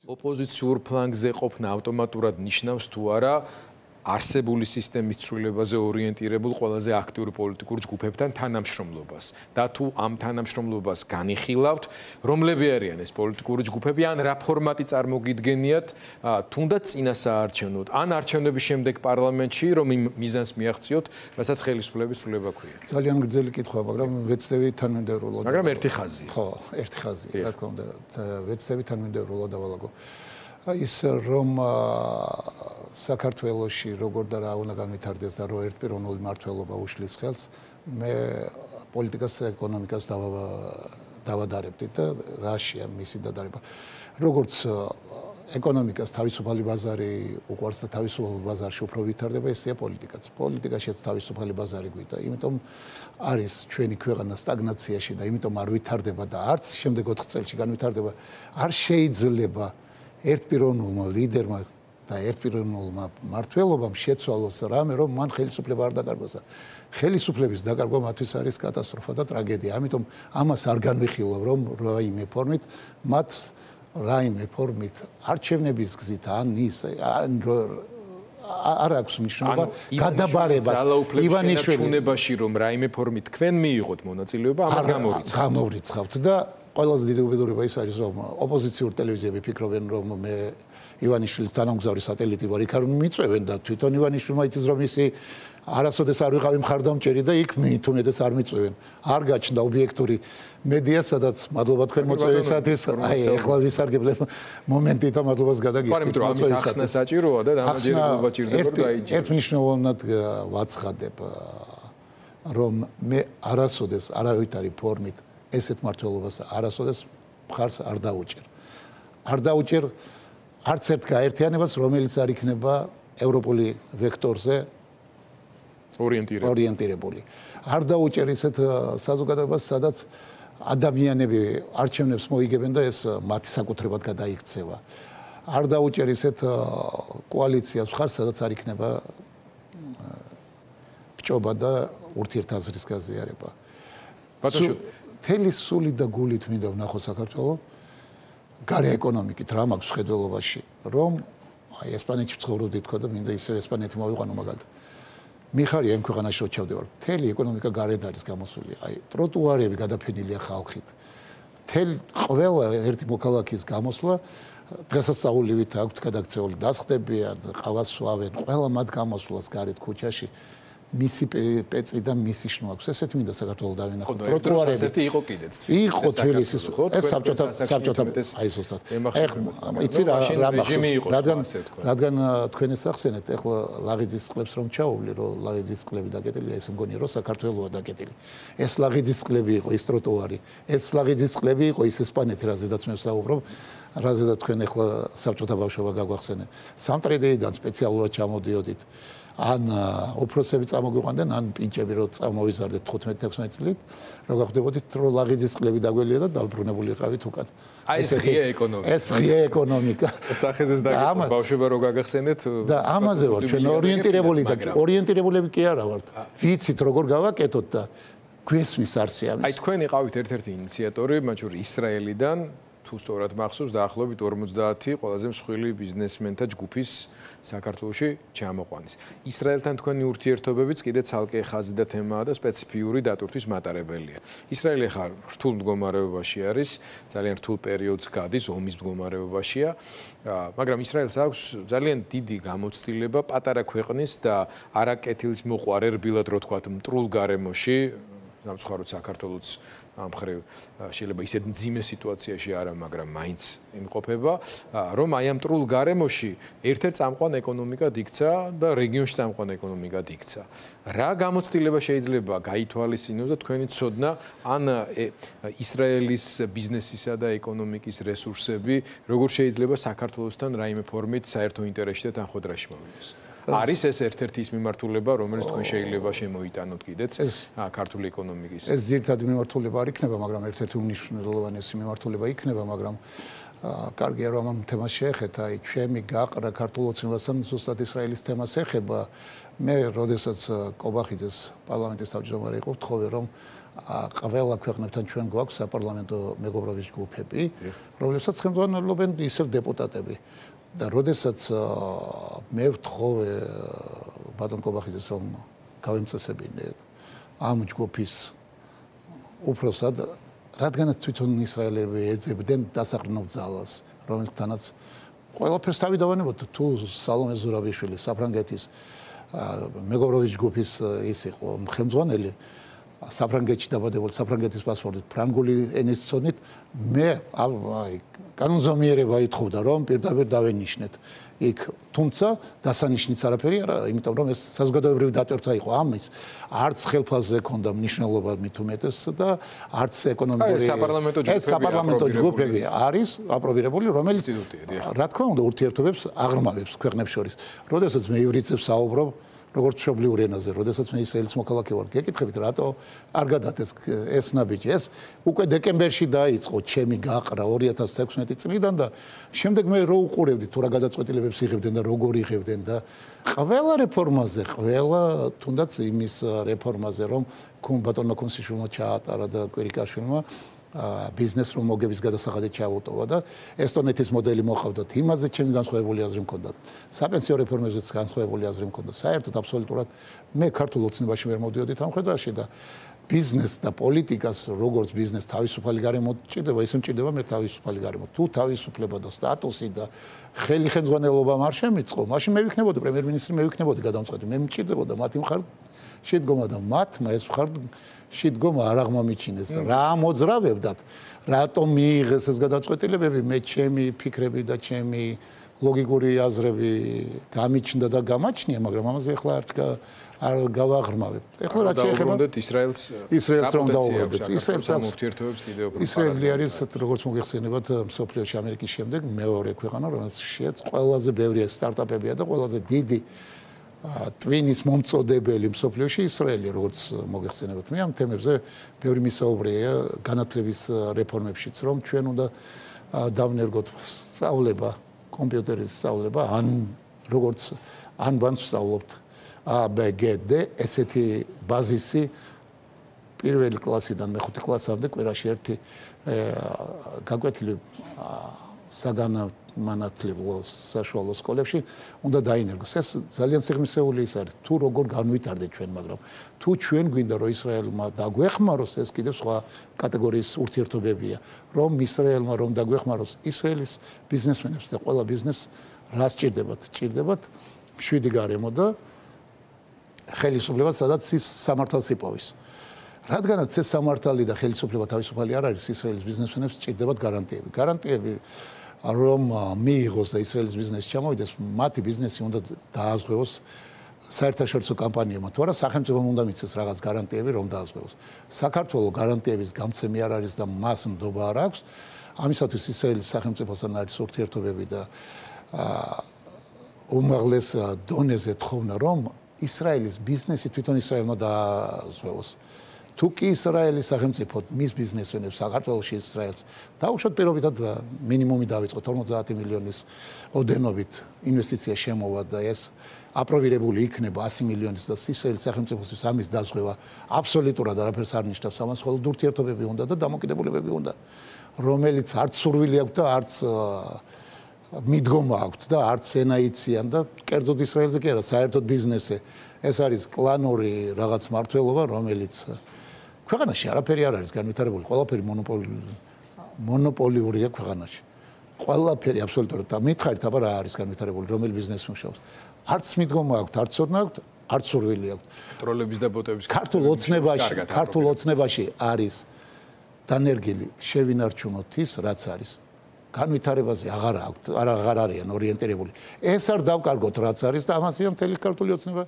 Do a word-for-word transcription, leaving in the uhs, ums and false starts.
ოპოზიციურ ფლანგზე ყოფნა ავტომატურად ნიშნავს თუ არა არსებული სისტემის ცვლილებაზე ორიენტირებულ ყველაზე აქტიური პოლიტიკურ ჯგუფებთან თანამშრომლობას და თუ ამ თანამშრომლობას განიხილავთ, რომლები არიან ეს პოლიტიკური ჯგუფები, ან რა ფორმატი წარმოგიდგენიათ, თუნდაც წინასაარჩევნოდ, ან არჩევნების შემდეგ პარლამენტში, რომ იმ მიზანს მიაღწიოთ, რასაც ხელისუფლების ცვლილება ქვია. ძალიან გრძელი კითხვა, მაგრამ ვეცდები თანმიმდევრულად. მაგრამ ერთი ხაზი. ხო, ერთი ხაზი, რა თქმა უნდა, ვეცდები თანმიმდევრულად დავალაგო. ის რომ საქართველოში როგორ და რა უნდა განვითარდეს და რო ერთპიროვნული მმართველობა უშლის ხელს, მე პოლიტიკას და ეკონომიკას დავადარებდი და რაშია მისი დადარება. როგორც ეკონომიკას თავისუფალი ბაზარი უყვარს და თავისუფალ ბაზარში უფრო ვითარდება, ესეა პოლიტიკაც. პოლიტიკაშიც თავისუფალი ბაზარი გვიდა, იმიტომ არის ჩვენი ქვეყანა სტაგნაციაში და იმიტომ არ ვითარდება და არც შემდეგ ოთხ წელში განვითარდება. არ შეიძლება ერთპიროვნულმა ლიდერმა და ერთპიროვნულმა მმართველობამ შეცვალოს რამე, რომ მან ხელისუფლება არ დაკარგოს და ხელისუფლების დაკარგვა მათთვის არის კატასტროფა და ტრაგედია. ამიტომ ამას არ განვიხილავ, რომ რაიმე ფორმით მათ რაიმე ფორმით არჩევნების გზით ან ის ან არ აქვს მნიშვნელობა გადაბარებას ივანიშვილის ჩუნებაში, რომ რაიმე ფორმით თქვენ მიიღოთ მონაწილეობა, ამას გამორიცხავთ. გამორიცხავთ და ყველაზე დიდი უბედურება ის არის, რომ ოპოზიციური ტელევიზიები ფიქრობენ, რომ მე ივანიშვილის თანამგზავრი სატელიტი ვარ, იქ არ მიწვევენ და თვითონ ივანიშვილმა იცის, რომ ისი არასოდეს არ ვიყავი მხარდამჭერი და იქ თუნდაც არ მიწვევენ. არ გაჩნდა ობიექტური მედია, სადაც მადლობა თქვენ მოწვევისათვის, აი ეხლა ვისარგებლებ მომენტით და მადლობას გადაგიხდით მოწვევისათვის. ამის საჭიროა და დამაჯერებლობა ჭირდება, რომ დაიჯეროს. ერთ მნიშვნელოვნად ვაცხადებ, რომ მე არასოდეს არავითარი ფორმით ესეთ მმართველობას არასოდეს მხარს არ დაუჭერ. არ დაუჭერ არც ერთ გაერთიანებას, რომელიც არ იქნება ევროპული ვექტორზე ორიენტირებული. არ დაუჭერ ისეთ საზოგადოებას, სადაც ადამიანები არჩევნებს მოიგებენ და ეს მათი საკუთრებად გადაიქცევა. არ დაუჭერ ისეთ კოალიციას მხარს, სადაც არ იქნება ბჭობა და ურთიერთაზრის გაზიარება. ბატონო, თელი სული და გულით მინდა ვნახო საქართველოს გარე ეკონომიკით რა მაქვს ხედველობაში, რომ აი ესპანეთში ცხოვრობდი თქვა და მინდა ისე ესპანეთი მოვიყვანო მაგალითად. მიხარია იმ ქვეყანაში რო ჩავდივარ, მთელი ეკონომიკა გარეთ არის გამოსული, აი ტროტუარები გადაფენილია ხალხით. მთელი ყველა ერთი მოქალაქის გამოსვლა დღესასწაულივით აქვთ გადაქცეული, დასხდებიან, ყავას სვავენ, ყველა მათ გამოსვლას გარეთ ქუჩაში მისი პეწი და მისი შნო აქვს. ესეთ მინდა საქართველოს დავინახოთ. ტროტუარები ესეთი იყო კიდეც. იყო თბილისის ეს საბჭოთა საბჭოთა აი ზუსტად. იცი რა რა რადგან რადგან თქვენ ეს ახსენეთ, ეხლა ლაღიძის წყლებს რომ ჩაუვლი, რომ ლაღიძის წყლები დაკეტილია, ეს მგონია რომ საქართველოა დაკეტილი. ეს ლაღიძის წყლები იყო ის ტროტუარი. ეს ლაღიძის წყლები იყო ის ესპანეთი, რაზედაც მე ვსაუბრობ. რაზედაც თქვენ ეხლა საბჭოთა ბავშვობა გაგვახსენე. სამტრედეიდან სპეციალურად ჩამოდიოდით. ან უფროსები წამოგვიყვანდნენ, ან პინჭები რო წამოვიზარდეთ თხუთმეტ ექვსმეტ წლით, რო გახვდებოდით, რომ ლაღიძის წყლები დაგველია და დაბრუნებული იყავით უკან. აი ეს ღია ეკონომიკა. ეს ღია ეკონომიკა. სახეზეს დაგეკვა ბავშვობა რო გაგახსენეთ და ამაზე ვარ ჩვენ ორიენტირებული და ორიენტირებულები კი არა ვართ. ვიცით როგორ გავაკეთოთ და გვესმის არსიამის. აი თქვენ იყავით ერთ-ერთი ინიციატორი, მათ შორის ისრაელიდან, თუ სწორად მახსოვს, დაახლოებით ორმოცდაათი ყველაზე მსხვილი ბიზნესმენთა ჯგუფის საქართველოში ჩამოყვანის. ისრაელთან თქვენი ურთიერთობებიც კიდე ცალკე ხაზი და თემაა და სპეციფიური დატვირთვის მატარებელია. ისრაელი ხარ რთულ მდგომარეობაში არის, ძალიან რთულ პერიოდს გადის, ომის მდგომარეობაშია, მაგრამ ისრაელს აქვს ძალიან დიდი გამოცდილება პატარა ქვეყნის და არაკეთილის მოყვარე რბილად რო თქვათ მტრულ გარემოში, სამწუხაროდ საქართველოც ამ ხრივ შეიძლება ისეთ მძიმე სიტუაციაში არა, მაგრამ მაინც იმყოფება, რომ აი ამ მტრულ გარემოში ერთ-ერთ წამყვან ეკონომიკად იქცა და რეგიონში წამყვან ეკონომიკად იქცა. რა გამოცდილება შეიძლება გაითვალისწინოს და თქვენი ცოდნა ან ისრაელის ბიზნესისა და ეკონომიკის რესურსები როგორ შეიძლება საქართველოსთან რაიმე ფორმით საერთო ინტერესში და თანხმოთრაში მოვიდეს? არის ეს ერთ-ერთი ის მიმართულება, რომელიც თქვენ შეიძლება შემოიტანოთ კიდეც ქართული ეკონომიკის. ეს ძირითადი მიმართულება არ იქნება, მაგრამ ერთ-ერთი უმნიშვნელოვანესი მიმართულება იქნება, მაგრამ კარგია რომ ამ თემას შეეხეთ, აი ჩემი გაყრა ქართულ ოცნებასთან ზუსტად ისრაელის თემას ეხება. მე როდესაც კობახიძეს პარლამენტის თავმჯდომარე იყო, ვთხოვე რომ ყველა ქვეყნებთან ჩვენ გვაქვს საპარლამენტო მეგობრობის ჯგუფები, რომლებსაც ხელმძღვანელობენ ისევ დეპუტატები. და როდესაც მე ვთხოვე ბატონ კობახიძეს რომ გავემწესებინე ამ ჯგუფის უფროსად, რადგანაც თვითონ ისრაელები ეძებდნენ დასაყრდნობ ძალას, რომელთანაც ყველაფერს თავი დავანებოთ. თუ სალომე ზურაბიშვილი საფრანგეთის მეგობრობის ჯგუფის ის იყო ხელმძღვანელი, საფრანგეთში დაბადებული, საფრანგეთის პასპორტით, ფრანგული ენის ცოდნით, მე აი კანონზომიერება ითხოვდა რომ პირდაპირ დავენიშნეთ იქ, თუმცა დასანიშნიც არაფერი არა, იმიტომ რომ ეს საზოგადოებრივი დატვირთვა იყო ამის, არც ხელფასზე ჰქონდა მნიშვნელობა მით უმეტეს და არც ეკონომიკური ეს საპარლამენტო ჯგუფები არის აპრობირებული, რომელიც რა თქმა უნდა ურთიერთობებს აღრმავებს ქვეყნებს შორის. როდესაც მე ივრიცებს საუბრობ როგორც მშობლიურ ენაზე, როდესაც მე ისრაელის მოქალაქე ვარ, გეკითხებით, რატო არ გადადეს ეს ნაბიჯი? ეს უკვე დეკემბერში დაიწყო ჩემი გაყრა ორი ათას თექვსმეტი წლიდან და შემდეგ მე რო უყურებდი თუ რა გადაწყვეტილებებს იღებდნენ და როგორ იღებდნენ და ყველა რეფორმაზე, ყველა თუნდაც იმის რეფორმაზე, რომ ბატონმა კონსტიტუციურმა ჩაატარა და კვირიკაშვილმა ბიზნეს რომ მოგების გადასახადით ჩაუტოვა და ესტონეთის მოდელი მოხავდათ. იმაზე ჩემი განსხვავებული აზრი მქონდა. საპენსიო რეფორმებზეც განსხვავებული აზრი მქონდა. საერთოდ აბსოლუტურად მე ქართულ ოცნებაში ვერ მოვდიოდი ამ ხედვაში და ბიზნეს და პოლიტიკას როგორც ბიზნეს თავისუფალი გარემო ჭირდება, ისე მჭირდება მე თავისუფალი გარემო. თუ თავისუფლება და სტატუსი და ხელი ხელმძღვანელობა არ შემიწყო, მაშინ მე ვიქნებოდი პრემიერ-მინისტრი, მე ვიქნებოდი გადამწყვეტი. მე მჭირდებოდა მათი მხარ შედგომა და მათმა ეს მხარ შედგომა არ აღმომიჩინეს. რა მოძრავებდათ, რატომ მიიღეს ეს გადაწყვეტილებები, მე ჩემი ფიქრები და ჩემი ლოგიკური აზრები გამიჩნდა და გამაჩნია, მაგრამ ამაზე ახლა არ არ გავაღრმავებ. ახლა რა შეეხება ისრაელს ისრაელს რომ დაუბრუნდეთ. ისრაელს ურთიერთობებს კიდევ უფრო ისრაელი არის როგორც მოგეხსენებათ მსოფლიოში ამერიკის შემდეგ მეორე ქვეყანა, რომელშიც ყველაზე ბევრი სტარტაპებია და ყველაზე დიდი ტვინის მომწოდებელი მსოფლიოში ისრაელი, როგორც მოგეხსენებათ. მე ამ თემებზე ბევრი მისაუბრეა განათლების რეფორმებშიც, რომ ჩვენ უნდა დავნერგოთ სწავლება, კომპიუტერის სწავლება, ან როგორც ან ბანს ვსწავლობთ A, B, G, D, ესეთი ბაზისი პირველი კლასიდან მეხუთე კლასამდე კვირაში ერთი გაკვეთილი საგანმანათლებლო საშუალო სკოლებში უნდა დაინერგოს. ეს ძალიან სიღრმისეული ის არის. თუ როგორ განვითარდეთ ჩვენ, მაგრამ თუ ჩვენ გვინდა რომ ისრაელმა დაგვეხმაროს, ეს კიდევ სხვა კატეგორიის ურთიერთობებია. რომ ისრაელმა რომ დაგვეხმაროს, ისრაელის ბიზნესმენებს და ყველა ბიზნესს რა სჭირდებათ? სჭირდებათ მშვიდი გარემო და ხელისუფლება, სადაც ის სამართალს იპოვის. რადგანაც ეს სამართალი და ხელისუფლება თავისუფალი არ არის, ისრაელის ბიზნესმენებს სჭირდებათ გარანტიები. გარანტიები რომ მიიღოს და ისრაელის ბიზნესი ჩამოვიდეს, მათი ბიზნესი უნდა დააზღვევოს საერთაშორისო კამპანიებმა. თუ არა, სახელმწიფომ უნდა მიცეს რაღაც გარანტიები, რომ დააზღვევოს. საქართველოს გარანტიების გამცემი არ არის და მას ნდობა არ აქვს. ამისათვის ისრაელის სახელმწიფოსთან არის ურთიერთობები და უმაღლეს დონეზე თხოვნა, რომ ისრაელის ბიზნესი თვითონ ისრაელმა დააზღვევოს. თუ კი ისრაელის სახელმწიფო მის ბიზნესმენებს საქართველოში ისრაელს დაუშვათ პირობითად მინიმუმი დავიწყო ორმოცდაათი მილიონის ოდენობით ინვესტიცია შემოვა და ეს აპრობირებული იქნება ასი მილიონის და ისრაელის სახელმწიფოსთვის ამის დაზღვევა აბსოლუტურად არაფერს არ ნიშნავს. ამას მხოლოდ ურთიერთობები უნდა და დამოკიდებულებები უნდა, რომელიც არც სურვილი აქვს და არც მიდგომა აქვს და არც ენაიციან და კერძოდ ისრაელზე კი არა, საერთოდ ბიზნესი. ეს არის კლანური რაღაც მართლობა, რომელიც ქვეყანაში არაფერი არ არის განვითარებული, ყველაფერი მონოპოლი მონოპოლიურია ქვეყანაში. ყველაფერი აბსოლუტურად და მითხარით, აბა რა არის განვითარებული, რომელი ბიზნესი მუშაობს. არც მიდგომა აქვს, არც ოდნა აქვს, არც სურვილი აქვს. კონტროლების და ბოტების ქართულ ოცნებაში, ქართულ ოცნებაში არის დანერგილი შევინარჩუნოთ ის, რაც არის. განვითარებაზე აღარ აქვს, აღარ არიან ორიენტირებული. ეს არ დავკარგოთ, რაც არის და ამასია მთელი ქართული ოცნება.